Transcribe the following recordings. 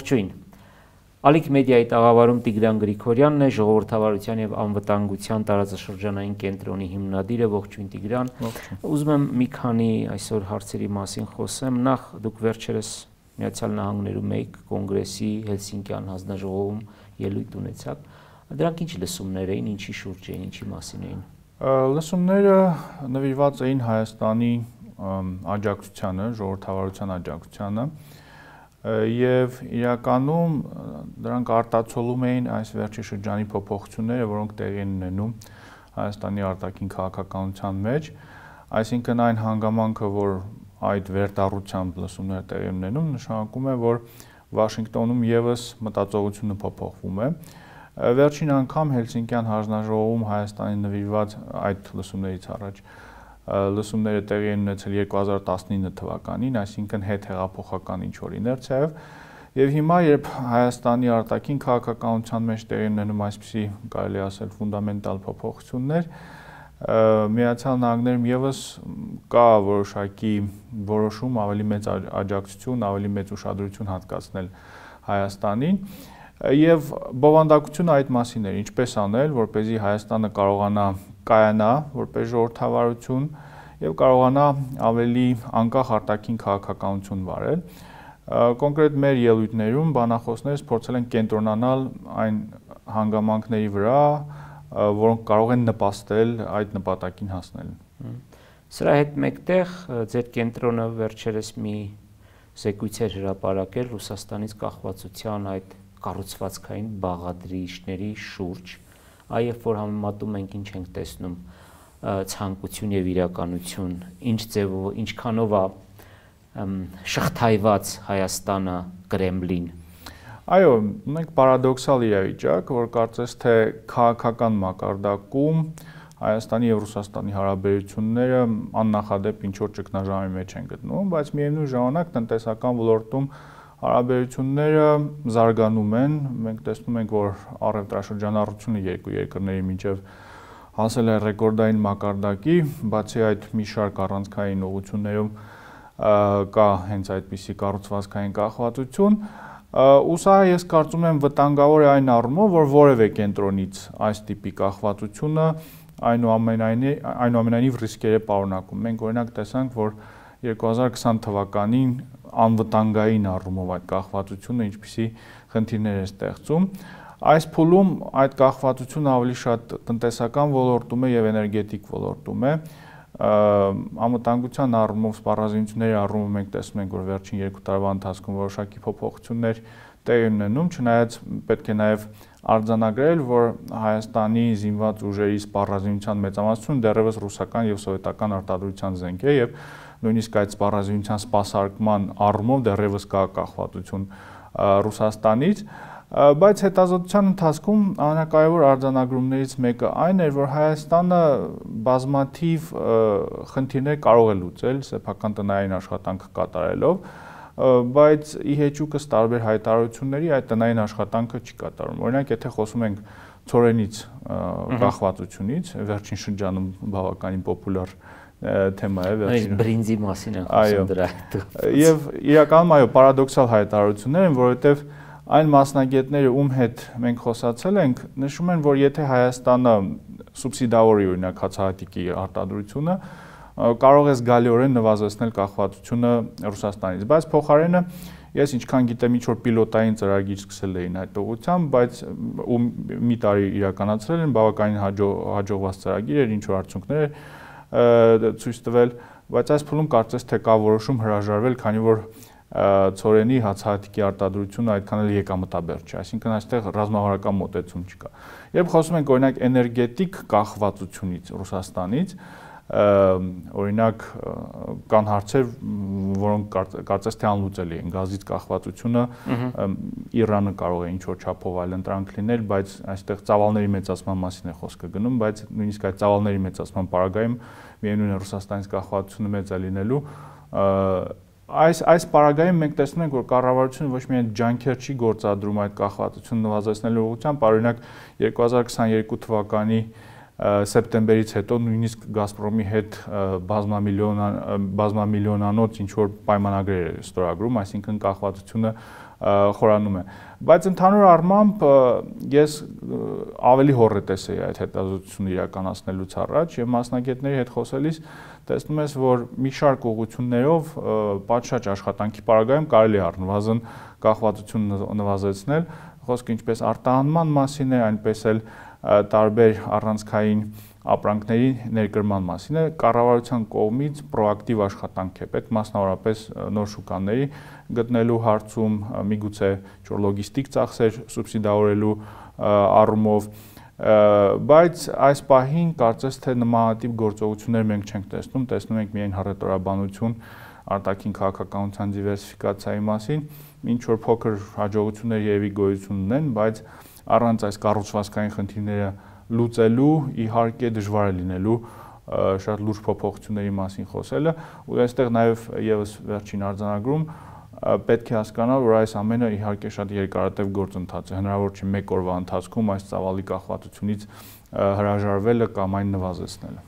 Ողջույն։ Ալիք մեդիայի տաղավարում Տիգրան Գրիգորյանն է, ժողովրդավարության եւ անվտանգության տարածաշրջանային կենտրոնի հիմնադիրը։ Ողջույն Տիգրան։ Ուզում եմ մի քանի այսօր հարցերի մասին խոսեմ։ Նախ դուք վերջերս Միացյալ Նահանգներում եք կոնգրեսի Հելսինկյան հանձնաժողովում ելույթ ունեցաք։ Դրանք ինչ լսումներ էին, ինչի շուրջ էին, ինչի մասին էին։ Լսումները նվիրված էին Հայաստանի աջակցությանը, ժողովրդավարության աջակցությանը եւ իրականում դրանք արտացոլում էին այս վերջի շրջանի փոփոխությունները, որոնք տեղի են ունենում Հայաստանի արտաքին քաղաքականության մեջ, այսինքն այն հանգամանքը, որ այդ վերտառությամբ լսումները տեղի ունենում, նշանակում է, որ Վաշինգտոնում եւս մտածողությունը փոփոխվում է։ Վերջին անգամ Հելսինկյան հանձնաժողովում Հայաստանի նվիրված այդ լսումներից առաջ լսումները տեղի են ունեցել 2019 թվականին, այսինքն հետհեղափոխական ինչ-որ իներցիայով, եւ հիմա երբ Հայաստանի արտաքին քաղաքականության մեջ տեղի ունենում այսպիսի, կարելի ասել, ֆունդամենտալ փոփոխություններ, Միացյալ Նահանգներում եւս կա որոշակի որոշում ավելի մեծ աջակցություն, ավելի մեծ ուշադրություն հատկացնել Հայաստանին, եւ բովանդակությունը այդ մասին էր, ինչպես անել, որպեսզի Հայաստանը կարողանա կայանա որպես ժողովրդավարություն եւ կարողանա ավելի անկախ արտաքին քաղաքականություն վարել։ Կոնկրետ մեր ելույթներում բանախոսներս փորձել են կենտրոնանալ այն հանգամանքների վրա, որոնք կարող են նպաստել այդ նպատակին հասնելուն։ Սրա հետ մեկտեղ ձեր կենտրոնը վերջերս մի զեկույց էր հրապարակել Ռուսաստանից կախվածության այդ կառուցվածքային բաղադրիչների շուրջ, այև որ համեմատում ենք ինչ ենք տեսնում ցանկություն եւ իրականություն, ինչ ձևով, ինչքանով է շղթայված Հայաստանը Կրեմլին։ Այո, ունենք պարադոքսալ իրավիճակ, որ կարծես թե քաղաքական մակարդակում Հայաստանի եւ Ռուսաստանի հարաբերությունները աննախադեպ ինչ-որ ճգնաժամի մեջ են գտնվում, բայց միևնույն ժամանակ տնտեսական ոլորտում հարաբերությունները զարգանում են, մենք տեսնում ենք, որ առևտրաշրջանառությունը երկու երկրների միջև հասել է ռեկորդային մակարդակի, բացի այդ մի շարք առանցքային ուղղություններում կա հենց այդպիսի կառուցվածքային կախվածություն, ու սա ես կարծում եմ վտանգավոր է այն առումով, որ որևէ կենտրոնից այս տիպի կախվածությունը այնուամենայնիվ ռիսկեր է պարունակում։ Մենք օրինակ տեսանք, որ 2020 թվականին անվտանգային առումով այդ կախվածությունը ինչպիսի խնդիրներ է ստեղծում։ Այս փուլում այդ կախվածությունը ավելի շատ տնտեսական ոլորտում է եւ էներգետիկ ոլորտում է։ Անվտանգության առումով, սպառազինությունների առումով մենք տեսնում ենք, որ վերջին 2 տարվա ընթացքում որոշակի փոփոխություններ տեղի ունենում, չնայած պետք է նաեւ արձանագրել, որ Հայաստանի զինված ուժերի սպառազինության մեծամասնությունը դեռևս ռուսական եւ սովետական արտադրության զենք է եւ նույնիսկ այդ սպառազինության սպասարկման առումով դեռևս կա կախվածություն Ռուսաստանից, բայց հետազոտության ընթացքում ամենակարևոր արձանագրումներից մեկը այն էր, որ Հայաստանը բազմաթիվ խնդիրներ կարող է լուծել սեփական տնային աշխատանք կատարելով, բայց ի հեճուկս տարբեր հայտարարությունների այդ տնային աշխատանքը չի կատարում։ Օրինակ, եթե խոսում ենք ցորենից կախվածությունից, վերջին շրջանում բավականին պոպուլար թեմա է վերջին բրինձի մասին են խոսում դրա հետ։ Եվ իրականում այո, պարադոքսալ հայտարարություններ են, որովհետև այն մասնագետները, ում հետ մենք խոսացել ենք, նշում են, որ եթե Հայաստանը սուբսիդավորի օրինակ հացահատիկի արտադրությունը, կարող է զգալիորեն նվազեցնել կախվածությունը Ռուսաստանից, բայց փոխարենը ես ինչքան գիտեմ, ինչ որ պիլոտային ծրագիր սկսել էին այդ ուղղությամբ, բայց մի տարի իրականացրել են, բավականին հաջողված ծրագիր էր, ինչ որ արդյունքներ ցույց տվել, բայց այս փուլում կարծես թե կա որոշում հրաժարվել, քանի որ ցորենի հացահատիկի արտադրությունը այդքան էլ եկամտաբեր չէ, այսինքն այստեղ ռազմավարական մոտեցում չկա։ Երբ խոսում ենք օրինակ էներգետիկ կախվածությունից Ռուսաստանից, օրինակ կան հարցեր, որոնք կարծես թե անլուծելի են, գազից կախվածությունը Իրանը կարող է ինչ-որ չափով այլընտրանք լինել, բայց այստեղ ծավալների մեծացման մասին է խոսքը գնում, բայց նույնիսկ այդ ծավալների մեծացման պարագայում միևնույն է Ռուսաստանից կախվածությունը մեծ է լինելու։ Այս պարագայում մենք տեսնում ենք, որ կառավարությունը ոչ միայն ջանքեր չի գործադրում այդ կախվածությունը նվազեցնելու ուղղությամբ, օրինակ 2022 թվականի սեպտեմբերից հետո նույնիսկ Գազպրոմի հետ բազմամիլիոնանոց ինչ որ պայմանագրեր է ստորագրում, այսինքն կախվածությունը խորանում է։ Բայց ընդհանուր առմամբ ես ավելի հոռետես էի այդ հետազոտությունը իրականացնելուց առաջ եւ մասնագետների հետ խոսելիս տեսնում ես, որ մի շարք ուղղություններով պատշաճ աշխատանքի պարագայում կարելի է առնվազն կախվածությունը նվազեցնել, խոսքը ինչպես արտահանման մասին է, այնպես էլ տարբեր առանցքային ապրանքների ներկրման մասին է, կառավարության կողմից պրոակտիվ աշխատանք է պետք, մասնավորապես նոր շուկաների գտնելու հարցում, միգուցե լոգիստիկ ծախսեր սուբսիդավորելու առումով, բայց այս պահին կարծես թե նմանատիպ գործողություններ մենք չենք տեսնում ենք միայն հռետորաբանություն արտաքին քաղաքականության դիվերսիֆիկացիայի մասին, ինչ որ փոքր հաջողություններ երևի գոյություն ունեն, բայց առանց այս կառուցվածքային խնդիրները լուծելու իհարկե դժվար է լինելու շատ լուրջ փոփոխությունների մասին խոսելը, ու այստեղ նաև եւս վերջին արձանագրում պետք է հասկանալ, որ այս ամենը իհարկե շատ երկարատև գործընթաց է, հնարավոր չէ մեկ օրվա ընթացքում այս ծավալի կախվածությունից հրաժարվելը կամ այն նվազեցնելը։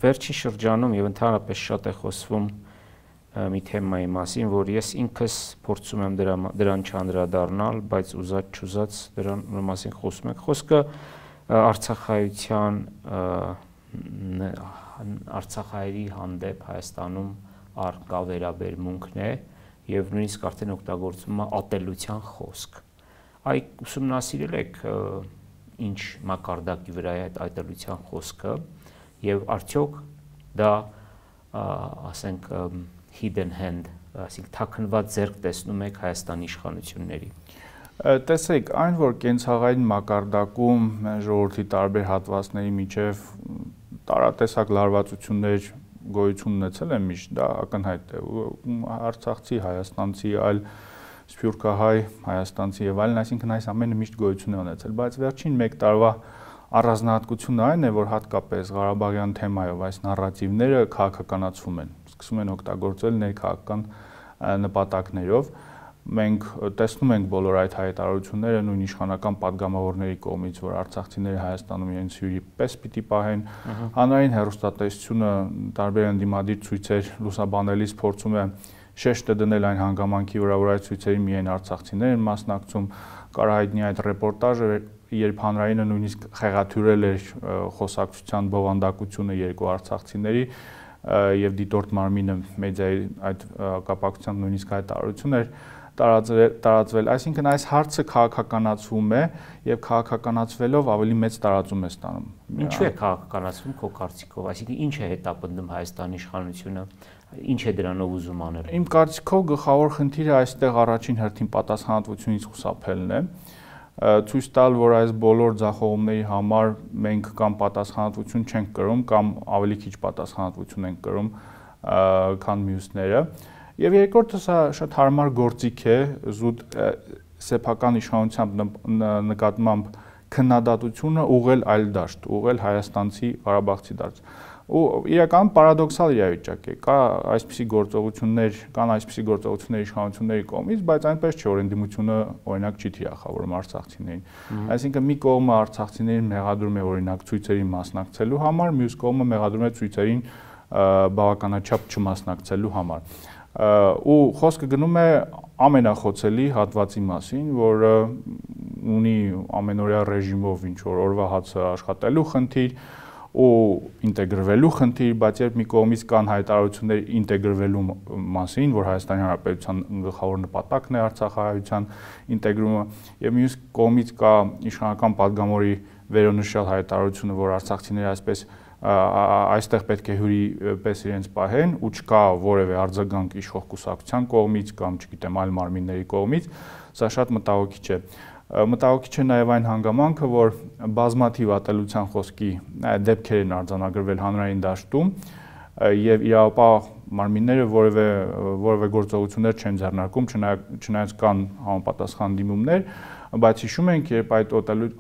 Վերջին շրջանում եւ ընդհանրապես շատ է խոսվում մի թեմայի մասին, որ ես ինքս փորձում եմ դրան չանդրադառնալ, բայց ուզած-չուզած դրան մասին խոսում ենք։ Խոսքը Արցախայերի հանդեպ Հայաստանում առկա վերաբերմունքն է եւ նույնիսկ արդեն օգտագործվում է ատելության խոսք։ Այ ուսումնասիրել եք ինչ մակարդակի վրա է այդ ատելության խոսքը եւ արդյոք դա ասենք hidden hand, այսինքն թաքնված ձեռք տեսնում եք Հայաստանի իշխանությունների։ Տեսեք, այն որ կենցաղային մակարդակում ժողովրդի տարբեր հատվածների միջև տարատեսակ լարվածություններ գոյություն ունեցել են միշտ, դա ակնհայտ է։ Արցախցի, հայաստանցի, այլ սփյուռքահայ, հայաստանցի եւ այլն, այսինքն այս ամենը միշտ գոյություն է ունեցել, բայց վերջին 1 տարվա առանձնահատկությունը այն է, որ հատկապես Ղարաբաղյան թեմայով այս նարատիվները քաղաքականացվում են, սկսում են օգտագործել ներքաղաքական նպատակներով։ Մենք տեսնում ենք բոլոր այդ հայտարարությունները նույն իշխանական падգամավորների կողմից, որ արցախցիները Հայաստանում իրենց հյուրի պես պիտի պահեն, հանրային հեռուստատեսությունը տարբեր ընդդիմադիր ցույցեր լուսաբանելիս փորձում է շեշտը դնել այն հանգամանքի վրա, որ այդ ցույցերին միայն արցախցիներ են մասնակցում, կարահայտնի այդ ռեպորտաժը, երբ հանրայինը նույնիսկ խեղաթյուրել էր խոսակցության բովանդակությունը երկու արցախցիների եւ դիտորդ մարմինը մեդիայի այդ կապակցությամբ նույնիսկ հայտարարություն էր տարածվել, այսինքն այս հարցը քաղաքականացվում է եւ քաղաքականացվելով ավելի մեծ տարածում է ստանում։ Ինչու է քաղաքականացվում քո կարծիքով, այսինքն ինչ է հետապնդում Հայաստանի իշխանությունը, ինչ է դրանով ուզում անել։ Իմ կարծիքով գլխավոր խնդիրը այստեղ առաջին հերթին պատասխանատվությունից խուսափելն է, ցույց տալ, որ այս բոլոր ձախողումների համար մենք կամ պատասխանատվություն չենք կրում, կամ ավելի քիչ պատասխանատվություն ենք կրում, քան մյուսները։ Եվ երկրորդը սա շատ հարմար գործիք է զուտ սեփական իշխանությամբ նկատմամբ քննադատությունը ուղղել այլ դաշտ, ուղղել հայաստանցի ղարաբաղցի դաշտ։ Ու իրականում պարադոքսալ իրավիճակ է, կան այսպիսի գործողություններ իշխանությունների կողմից, բայց այնպես չէ, որ ընդդիմությունը օրինակ չի թիրախավորում արցախցիներին։ Այսինքն մի կողմը արցախցիներին մեղադրում է օրինակ ցույցերին մասնակցելու համար, մյուս կողմը մեղադրում է ցույցերին բավականաչափ չմասնակցելու համար։ Ու խոսքը գնում է ամենախոցելի հատվածի մասին, որը ունի ամենօրյա ռեժիմով ինչ որ օրվա հացը աշխատելու խնդիր ու ինտեգրվելու խնդիր, բայց երբ մի կողմից կան հայտարարություններ ինտեգրվելու մասին, որ Հայաստանի Հանրապետության գլխավոր նպատակն է արցախահայության ինտեգրումը, եւ մյուս կողմից կա իշխանական падգամորի վերոնշյալ հայտարարությունը, որ արցախցիները այսպես այստեղ պետք է հյուրի պես իրենց պահեն ու չկա որևէ արձագանք իշխող կուսակցության կողմից կամ չգիտեմ այլ մարմինների կողմից, սա շատ մտահոգիչ է։ Մտահոգիչ է նաև այն հանգամանքը, որ բազմաթիվ ատելության խոսքի դեպքեր են արձանագրվել հանրային դաշտում եւ իրավապահ մարմինները որևէ գործողություններ չեն ձեռնարկում, չնայած կան համապատասխան դիմումներ, բայց հիշում ենք, երբ այդ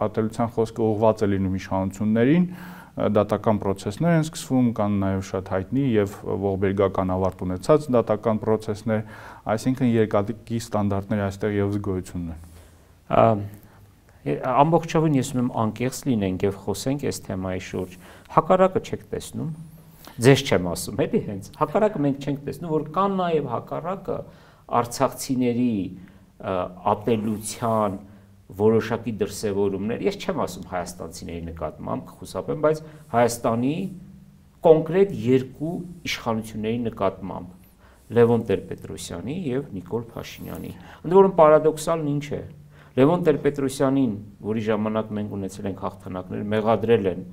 ատելության խոսքը ուղղված է լինում իշխանություններին, դատական process-ներ են սկսվում, կան նաև շատ հայտնի եւ ողբերգական ավարտ ունեցած դատական process-ներ, այսինքն երկակի ստանդարտներ այստեղ եւս գոյություն ունեն։ Ամբողջովին ես ուզում եմ անկեղծ լինենք եւ խոսենք այս թեմայի շուրջ։ Հակառակը չեք տեսնում։ Ձեզ չեմ ասում, էլի հենց։ Հակառակը մենք չենք տեսնում, որ կան նաև հակառակը արցախցիների ատելության որոշակի դրսևորումներ, ես չեմ ասում հայաստանցիների նկատմամբ, կխուսափեմ, բայց Հայաստանի կոնկրետ երկու իշխանությունների նկատմամբ Լևոն Տեր-Պետրոսյանի եւ Նիկոլ Փաշինյանի։ Ընդ որում պարադոքսալն ինչ է։ Լևոն Տեր-Պետրոսյանին, որի ժամանակ մենք ունեցել ենք հաղթանակներ, մեղադրել են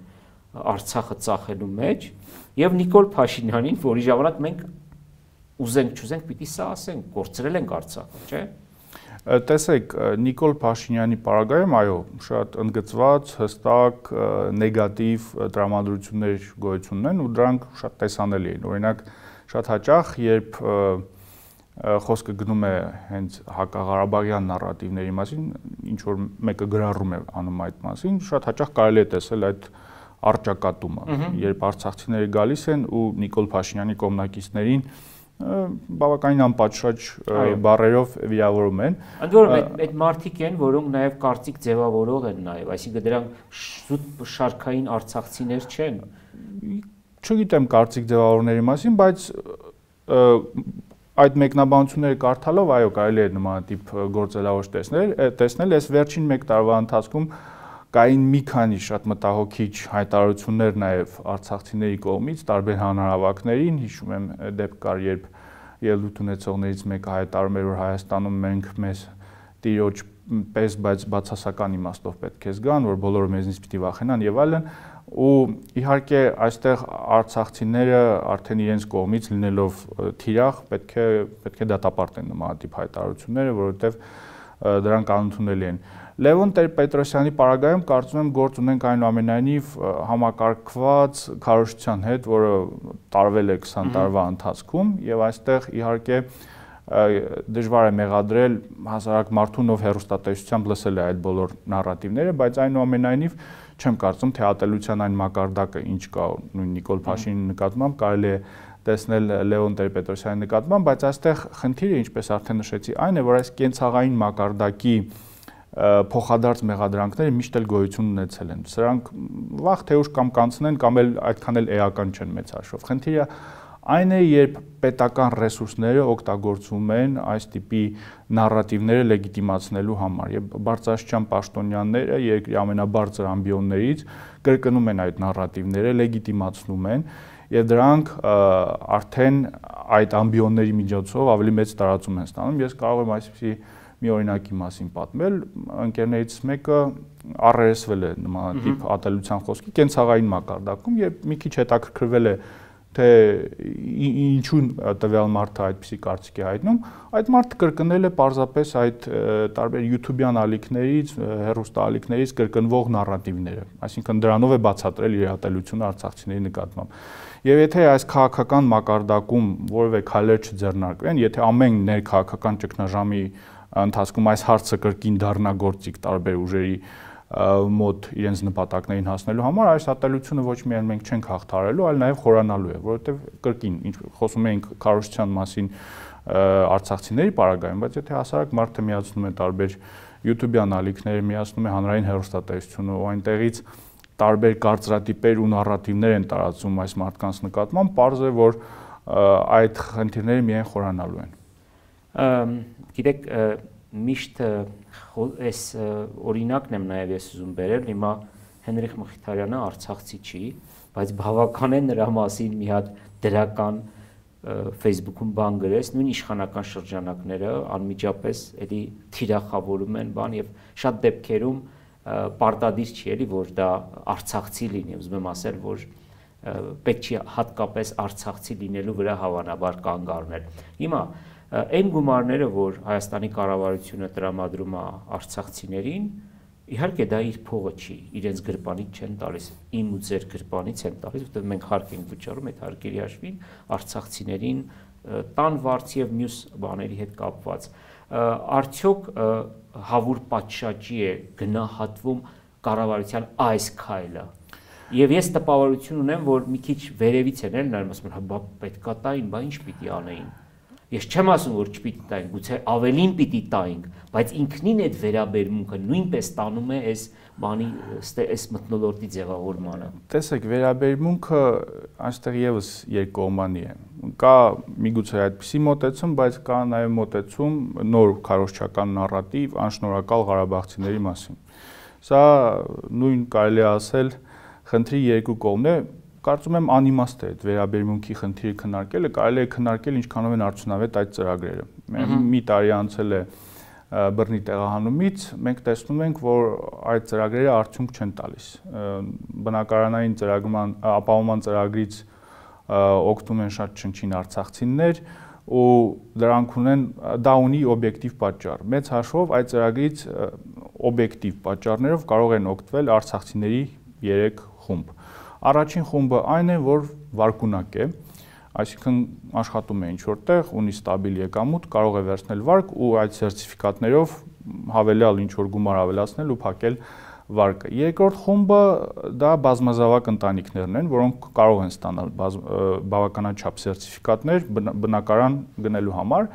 Արցախը ծախելու մեջ, եւ Նիկոլ Փաշինյանին, որի ժամանակ մենք ուզենք չուզենք պիտի սա ասենք, կորցրել ենք Արցախը, չէ՞։ Տեսեք, Նիկոլ Փաշինյանի պարագայում, այո, շատ ընդգծված, հստակ, նեգատիվ տրամադրություններ գոյություն ունեն ու դրանք շատ տեսանելի են։ Օրինակ, շատ հաճախ, երբ խոսքը գնում է հենց հակաղարաբաղյան նարատիվների մասին, ինչ որ մեկը գրառում է անում այդ մասին, շատ հաճախ կարելի է տեսել այդ առճակատումը, երբ արցախցիները գալիս են ու Նիկոլ Փաշինյանի կողմնակիցներին բավականին անպատշաճ բառերով վիրավորում են։ Ընդ որում այդ մարդիկ են, որոնք նաև կարծիք ձևավորող են նաև, այսինքն դրանք շուտ շարքային արցախցիներ չեն։ Չգիտեմ կարծիք ձևավորների մասին, բայց այդ մեկնաբանությունները կարդալով, այո, կարելի է նմանատիպ գործելավոր տեսնել, այս վերջին 1 տարվա ընթացքում կային մի քանի շատ մտահոգիչ հայտարարություններ նաև արցախցիների կողմից տարբեր հանրահավաքներին, հիշում եմ դեպք կար, երբ ելույթ ունեցողներից մեկը հայտարարում էր, որ Հայաստանում մենք մեզ տիրոջ պես, բայց բացասական իմաստով պետք է զգան, որ բոլորը մեզնից պիտի վախենան եւ այլն, ու իհարկե այստեղ արցախցիները արդեն իրենց կողմից լինելով թիրախ պետք է դատապարտեն նմանատիպ հայտարարությունները, որովհետեւ դրանք անընդունելի են։ Լևոն Տեր-Պետրոսյանի պարագայում կարծում եմ գործ ունենք այնուամենայնիվ համակարգված քարոզչության հետ, որը տարվել է 20 տարվա ընթացքում եւ այստեղ իհարկե դժվար է մեղադրել հասարակ մարդուն, ով հեռուստատեսությամբ լսել է այդ բոլոր նարատիվները, բայց այնուամենայնիվ չեմ կարծում, թե ատելության այն մակարդակը ինչ կա նույն Նիկոլ Փաշինյանի նկատմամբ կարելի է տեսնել Լևոն Տեր-Պետրոսյանի նկատմամբ, բայց այստեղ խնդիրը, ինչպես արդեն նշեցի, այն է, որ այս կենցաղային մակարդակի փոխադարձ մեղադրանքները միշտ էլ գոյություն ունեցել են։ Սրանք վաղ թե ուշ կամ կանցնեն, կամ էլ այդքան էլ էական չեն մեծ հաշվով։ Խնդիրը այն է, երբ պետական ռեսուրսները օգտագործվում են այս տիպի նարատիվները լեգիտիմացնելու համար, եւ բարձրաստիճան պաշտոնյաները երկրի ամենաբարձր ամբիոններից կրկնում են այդ նարատիվները, լեգիտիմացնում են, եւ դրանք արդեն այդ ամբիոնների միջոցով ավելի մեծ տարածում են ստանում։ Ես կարող եմ այսպիսի մի օրինակի մասին պատմել, ընկերներից մեկը առերեսվել է նմանատիպ ատելության խոսքի կենցաղային մակարդակում, երբ մի քիչ հետաքրքրվել է, թե ինչու տվյալ մարդը այդպիսի կարծիք է հայտնում, այդ մարդը կրկնել է պարզապես այդ տարբեր YouTube-յան ալիքներից, հեռուստաալիքներից կրկնվող նարատիվները, այսինքն դրանով է բացատրել իր ատելությունը արցախցիների նկատմամբ։ Եվ եթե այս քաղաքական մակարդակում որևէ քայլեր չձեռնարկվեն, եթե ամեն ներքաղաքական ճգնաժամի ընթացքում այս հարցը կրկին դառնա գործիք տարբեր ուժերի մոտ իրենց նպատակներին հասնելու համար, այս ատելությունը ոչ միայն մենք չենք հաղթահարելու, այլ նաև խորանալու է, որովհետև կրկին ինչ խոսում ենք քարոզչության մասին արցախցիների պարագայում, բայց եթե հասարակ մարդը միացնում է տարբեր YouTube-յան ալիքներ, միացնում է հանրային հեռուստատեսությունը ու այնտեղից տարբեր կարծրատիպեր ու նարատիվներ են տարածում այս մարդկանց նկատմամբ, պարզ է, որ այդ խնդիրները միայն խորանալու են։ Գիտեք, միշտ այս օրինակն եմ նաև ես ուզում բերել, հիմա Հենրիխ Մխիթարյանը արցախցի չի, բայց բավական է նրա մասին մի հատ դրական Facebook-ում բան գրես, նույն իշխանական շրջանակները անմիջապես էլի թիրախավորում են բան եւ շատ դեպքերում պարտադիր չի էլի, որ դա արցախցի լինի, ուզում եմ ասել, որ պետք չի հատկապես արցախցի լինելու վրա հավանաբար կանգ առնել։ Հիմա այն գումարները, որ Հայաստանի կառավարությունը տրամադրում է արցախցիներին, իհարկե դա իր փողը չի, իրենց գրպանից չեն տալիս, իմ ու ձեր գրպանից են տալիս, որտեղ մենք հարկ ենք վճարում այդ հարկերի հաշվին արցախցիներին տան վարձ եւ մյուս բաների հետ կապված։ Արդյոք հավուր պատշաճի է գնահատվում կառավարության այս քայլը։ Եվ ես տպավորություն ունեմ, որ մի քիչ վերևից են նայում, ասում են, բա պետքա տային, բա ինչ պիտի անեին։ Ես չեմ ասում, որ չպիտի տայինք, գուցե ավելին պիտի տայինք, բայց ինքնին այդ վերաբերմունքը նույնպես տանում է այս բանի այս մթնոլորտի ձևավորմանը։ Տեսեք, վերաբերմունքը այստեղ եւս երկկողմանի է։ կա միգուցե այդպիսի մոտեցում, բայց կա նաև մոտեցում նոր քարոզչական նարատիվ անշնորհակալ ղարաբաղցիների մասին։ Սա նույն կարելի է ասել խնդրի երկու կողմն է, կարծում եմ անիմաստ է այդ վերաբերմունքի խնդիրը քննարկելը, կարելի է քննարկել ինչքանով են արդյունավետ այդ ծրագրերը։ Մի տարի անցել է բռնի տեղահանումից, մենք տեսնում ենք, որ այդ ծրագրերը արդյունք չեն տալիս։ Բնակարանային ապահովման ծրագրից օգտվում են շատ չնչին արցախցիներ ու դա ունի օբյեկտիվ պատճառ։ Մեծ հաշվով այդ ծրագրից օբյեկտիվ պատճառներով կարող են օգտվել արցախցիների 3 խումբ։ Առաջին խումբը այն է, որ վարկունակ է, այսինքն աշխատում է ինչ-որտեղ, ունի ստաբիլ եկամուտ, կարող է վերցնել վարկ ու այդ սերտիֆիկատներով հավելյալ ինչ-որ գումար ավելացնել ու փակել վարկը։ Երկրորդ խումբը դա բազմազավակ ընտանիքներն են, որոնք կարող են ստանալ բավականաչափ սերտիֆիկատներ բնակարան գնելու համար,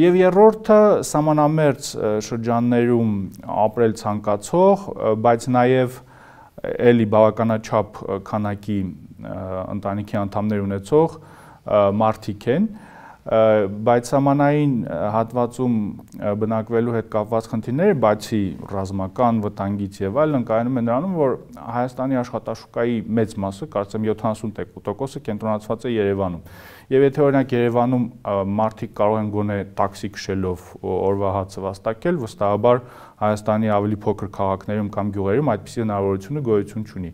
եւ երրորդը սահմանամերձ շրջաններում ապրել ցանկացող, բայց նաեւ էլի բավականաչափ քանակի ընտանիքի անդամներ ունեցող մարդիկ են, բայց սահմանային հատվածում բնակվելու հետ կապված խնդիրները, բացի ռազմական վտանգից եւ այլն, կայանում են նրանում, որ Հայաստանի աշխատաշուկայի մեծ մասը, կարծեմ 70% կենտրոնացված է Երևանում։ Եվ եթե օրինակ Երևանում մարդիկ կարող են գոնե տաքսի քշելով օրվա հացը վաստակել, վստահաբար Հայաստանի ավելի փոքր քաղաքներում կամ գյուղերում այդպիսի հնարավորությունը գոյություն չունի։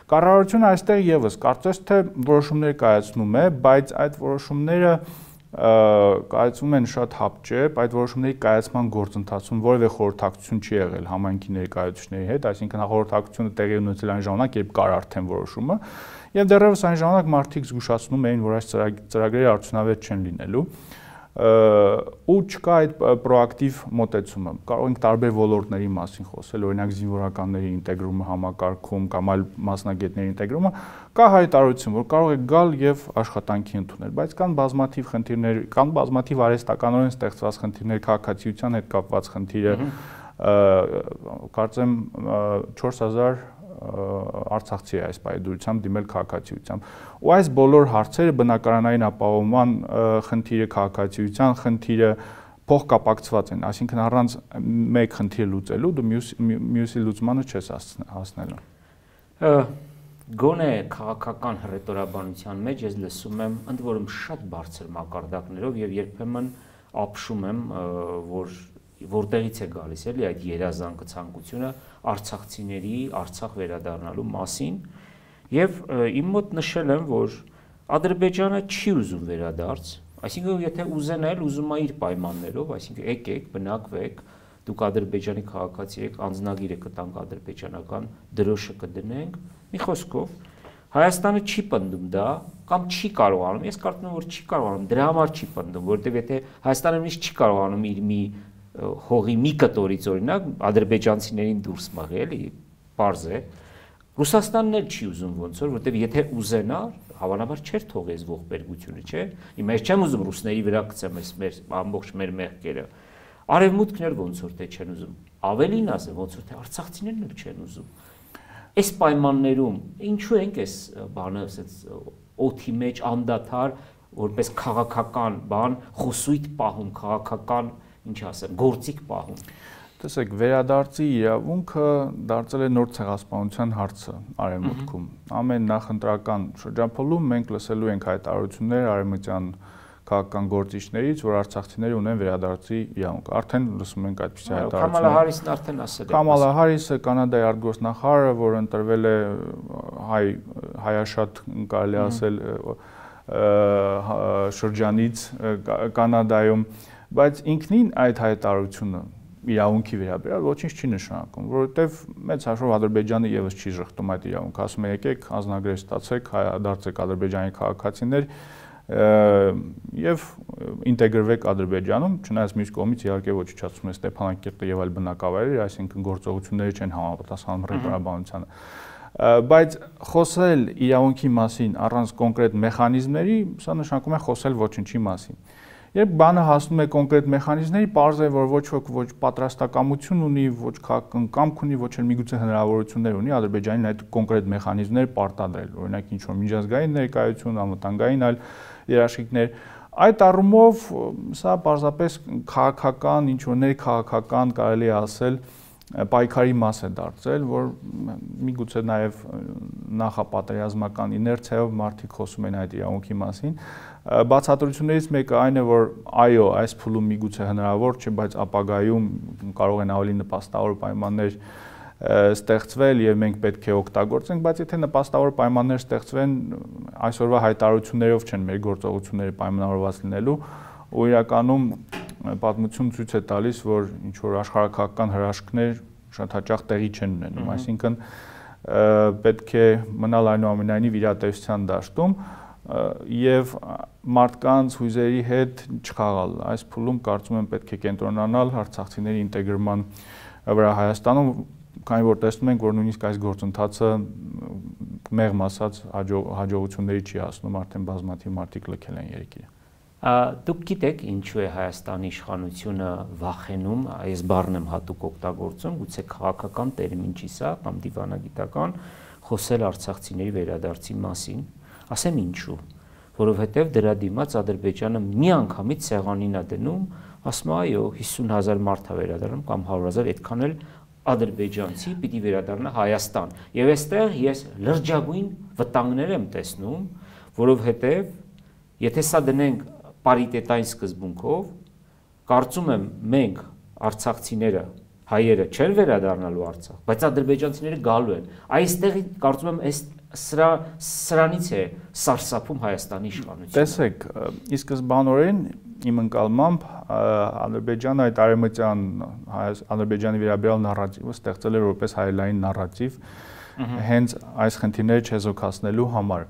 Կառավարությունը այստեղ եւս կարծես թե որոշումներ կայացնում է, բայց այդ որոշումները կայացվում են շատ հապճեպ, այդ որոշումների կայացման գործընթացում որևէ խորհրդակցություն չի եղել համայնքի ներկայացուցիչների հետ, այսինքն խորհրդակցությունը տեղի ունեցել այն ժամանակ, երբ կար արդեն որոշումը, եւ դեռևս այն ժամանակ մարդիկ զգուշացնում էին, որ այս ծրագրերը արդյունավետ չեն լինելու, ու չկա այդ պրոակտիվ մոտեցումը։ Կարող ենք տարբեր ոլորտների մասին խոսել, օրինակ զինվորականների ինտեգրումը համակարգում կամ այլ մասնագետների ինտեգրումը, կա հայտարարություն, որ կարող է գալ եւ աշխատանքի ընդունել, բայց կան բազմաթիվ խնդիրներ, կան բազմաթիվ արհեստականորեն ստեղծված խնդիրներ, քաղաքացիության հետ կապված խնդիրը, կարծեմ 4000 արցախցի է այս պայդուրությամբ դիմել քաղաքացիությամբ։ Ու այս բոլոր հարցերը բնակարանային ապահովման խնդիրը, քաղաքացիության խնդիրը փոխկապակցված են, այսինքն առանց մեկ խնդիր լուծելու դու մյուսի լուծմանը չես հասնելու։ Գոնե քաղաքական հռետորաբանության մեջ ես լսում եմ ընդ որում շատ բարձր մակարդակներով եւ երբեմն ապշում եմ, որտեղից է գալիս էլի այդ երազանքը ցանկությունը արցախցիների Արցախ վերադառնալու մասին եւ իմ մոտ նշել եմ, որ Ադրբեջանը չի ուզում վերադարձ, այսինքն եթե ուզեն էլ ուզում է իր պայմաններով, այսինքն եկեք, բնակվեք, դուք Ադրբեջանի քաղաքացի եք, անձնագիրը կտանք ադրբեջանական, դրոշը կդնենք, մի խոսքով Հայաստանը չի պնդում դա կամ չի կարողանում, ես կարծում եմ, որ չի կարողանում, դրա համար չի պնդում, որովհետեւ եթե Հայաստանը միշտ չի կարողանում իր մի հողի մի կտորից օրինակ ադրբեջանցիներին դուրս մղի, էլի, պարզ է։ Ռուսաստանն էլ չի ուզում ոնց որ, որտեվ եթե ուզենար, հավանաբար չէր թողի այս ողբերգությունը, չէ։ Հիմա ես չեմ ուզում ռուսների վրա գցեմ մեր ամբողջ մեր մեղքերը։ Արևմուտքն էլ ոնց որ թե չեն ուզում։ Ավելին ասեմ, ոնց որ թե արցախցիներն էլ չեն ուզում։ Այս պայմաններում ինչու ենք այս բանը ասած օթի մեջ անդադար որպես քաղաքական բան խոսույթ պահում, քաղաքական ինչ ասեմ, գործիք պահում։ Տեսեք, վերադարձի իրավունքը դարձել է նոր ցեղասպանության հարցը Արևմուտքում։ Ամեն նախընտրական շրջափուլում մենք լսելու ենք հայտարարություններ արևմտյան քաղաքական գործիչներից, որ արցախցիները ունեն վերադարձի իրավունք։ Արդեն լսում ենք այդպիսի հայտարարություններ։ Կամալա Հարիսն արդեն ասել է։ Կամալա Հարիսը Կանադայի արտգործնախարարը, որ ընտրվել է հայաշատ կարելի ասել շրջանից Կանադայում, բայց ինքնին այդ հայտարարությունը իրավունքի վերաբերյալ ոչինչ չի նշանակում, որովհետև մեծ հաշվով Ադրբեջանը եւս չի շղթում այդ իրավունքը, ասում է եկեք անձնագրեր ստացեք, դարձեք Ադրբեջանի քաղաքացիներ եւ ինտեգրվեք Ադրբեջանում, չնայած մյուս կողմից իհարկե ոչնչացում է Ստեփանակերտը եւ այլ բնակավայրեր, այսինքն գործողությունները չեն համապատասխանում հռետորաբանությանը։ Բայց խոսել իրավունքի մասին առանց կոնկրետ մեխանիզմների, սա նշանակում է խոսել ոչնչի մասին։ Երբ բանը հասնում է կոնկրետ մեխանիզմների, պարզ է, որ ոչ ոք ոչ պատրաստակամություն ունի, ոչ քաղաքական կամք ունի, ոչ էլ միգուցե հնարավորություններ ունի Ադրբեջանին այդ կոնկրետ մեխանիզմներ պարտադրել, օրինակ ինչ որ միջազգային ներկայություն, անվտանգային այլ երաշխիքներ։ Այդ առումով սա պարզապես քաղաքական, ինչ որ ներքաղաքական կարելի է ասել պայքարի մաս է դարձել, որ միգուցե նաև նախապատերազմական իներցիայով մարդիկ խոսում են այդ իրավունքի մասին։ Բացատրություններից մեկը այն է, որ այո, այս փուլում միգուցե հնարավոր չէ, բայց ապագայում կարող են ավելի նպաստավոր պայմաններ ստեղծվել եւ մենք պետք է օգտագործենք, բայց եթե նպաստավոր պայմաններ ստեղծվեն, այսօրվա հայտարարություններով չեն մեր գործողությունները պայմանավորված լինելու, ու իրականում պատմություն ցույց է տալիս, որ ինչ որ աշխարհակաղակական հրաշքներ շատ հաճախ տեղի չեն ունենում, այսինքն պետք է մնալ այնուամենայնիվ իրատեսության դաշտում եւ մարդկանց հույզերի հետ չխաղալ։ Այս փուլում կարծում եմ պետք է կենտրոնանալ արցախցիների ինտեգրման վրա Հայաստանում, քանի որ տեսնում ենք, որ նույնիսկ այս գործընթացը մեղմ ասած հաջողությունների չի հասնում, արդեն բազմաթիվ մարդիկ լքել են երկիրը։ Դուք գիտեք ինչու է Հայաստանի իշխանությունը վախենում, այս բառն եմ հատուկ օգտագործում, գուցե քաղաքական տերմին չի սա կամ դիվանագիտական, խոսել արցախցիների վերադարձի մասին, ասեմ ինչու, որովհետև դրա դիմաց Ադրբեջանը միանգամից սեղանին է դնում, ասում է այո 50,000 մարդ է վերադառնում կամ 100,000, այդքան էլ ադրբեջանցի պիտի վերադառնա Հայաստան։ Եվ այստեղ ես լրջագույն վտանգներ եմ տեսնում, որովհետև եթե սա դնենք պարիտետային սկզբունքով, կարծում եմ մենք արցախցիները, հայերը չեն վերադառնալու Արցախ, բայց ադրբեջանցիները գալու են։ Այստեղ կարծում եմ սրանից է սարսափում Հայաստանի իշխանությունը։ Տեսեք, ի սկզբանորեն իմ ընկալմամբ Ադրբեջանը այդ արևմտյան Ադրբեջանի վերաբերյալ նարատիվը ստեղծել էր որպես հայելային նարատիվ հենց այս խնդիրները չեզոքացնելու համար։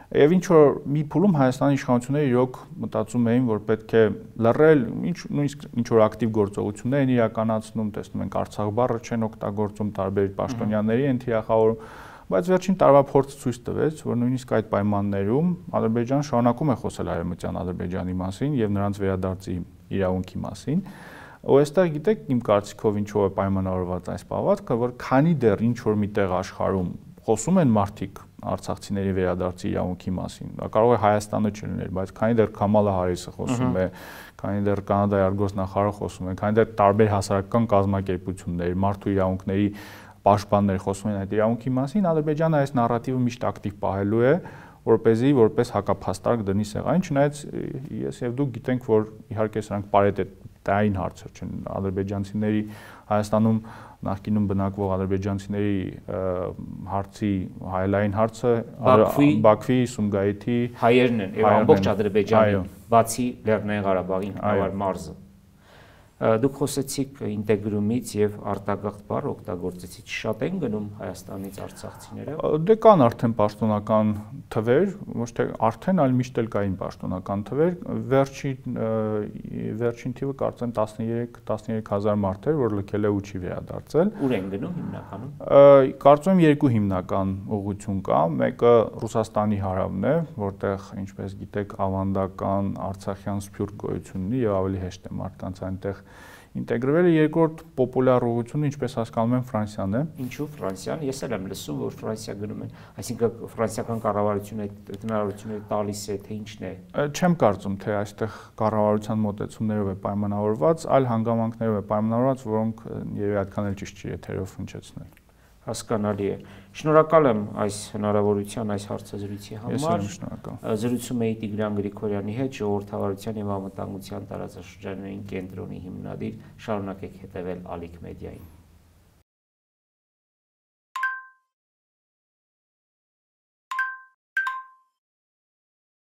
Եվ ինչ որ մի փուլում Հայաստանի իշխանությունները իրոք մտածում էին, որ պետք է լռել, նույնիսկ ինչ որ ակտիվ գործողություններ են իրականացնում, տեսնում ենք Արցախ բառը չեն օգտագործում, տարբեր պաշտոնյաների են թիրախավորում, բայց վերջին տարվա փորձը ցույց տվեց, որ նույնիսկ այդ պայմաններում Ադրբեջանը շարունակում է խոսել արևմտյան Ադրբեջանի մասին եւ նրանց վերադարձի իրավունքի մասին։ Ու այստեղ գիտեք, իմ կարծիքով ինչով է պայմանավորված այս պահվածքը, որ քանի դեռ ինչ որ միտեղ աշխարհում խոսում են մարդիկ արցախցիների վերադարձի իրավունքի մասին։ Դա կարող է Հայաստանը չլիներ, բայց քանի դեռ Քամալա Հարիսը խոսում է, քանի դեռ Կանադայի արտգործնախարարը խոսում է, քանի դեռ տարբեր հասարակական կազմակերպություններ, մարդու իրավունքների պաշտպաններ խոսում են այդ իրավունքի մասին, Ադրբեջանը այս նարատիվը միշտ ակտիվ պահելու է, որպեսզի որպես հակափաստարկ դնի սեղանին, չնայած ես եւ դուք գիտենք, որ իհարկե սրանք պարիտետային հարցեր չեն, ադրբեջանցիների Հայաստանում նախկինում բնակվող ադրբեջանցիների հարցի հայելային հարցը Բաքվի, Սումգայիթի հայերն են եւ ամբողջ Ադրբեջանի, բացի Լեռնային Ղարաբաղի ինքնավար մարզը։ Դուք խոսեցիք ինտեգրումից եւ արտագաղթ բառ օգտագործեցիք, շատ են գնում Հայաստանից արցախցիները։ Դե կան արդեն պաշտոնական թվեր, ոչ թե արդեն, այլ միշտ էլ կային պաշտոնական թվեր, վերջին թիվը կարծեմ 13,000 մարդ էր, որ լքել է ու չի վերադարձել։ Ուր են գնում հիմնականում։ Կարծում եմ երկու հիմնական ուղղություն կա, մեկը Ռուսաստանի հարավն է, որտեղ ինչպես գիտեք ավանդական արցախյան սփյուռք գոյություն ունի եւ ավելի հեշտ է մարդկանց այնտեղ ինտեգրվելը, երկրորդ պոպուլյար ուղղությունը, ինչպես հասկանում եմ, Ֆրանսիան է։ Ինչու Ֆրանսիան։ Ես էլ եմ լսում, որ Ֆրանսիա գնում են, այսինքն ֆրանսիական կառավարությունը այդ հնարավորությունները տալիս է, թե ինչն է։ Չեմ կարծում, թե այստեղ կառավարության մոտեցումներով է պայմանավորված, այլ հանգամանքներով է պայմանավորված, որոնք երևի այդքան էլ ճիշտ չի եթերով հնչեցնել։ Հասկանալի է։ Շնորհակալ եմ այս հնարավորության, այս հարցազրույցի համար։ Ես եմ շնորհակալ։ Զրուցում էի Տիգրան Գրիգորյանի հետ, ժողովրդավարության եւ անվտանգության տարածաշրջանային կենտրոնի հիմնադիր։ Շարունակեք հետևել Ալիք մեդիային։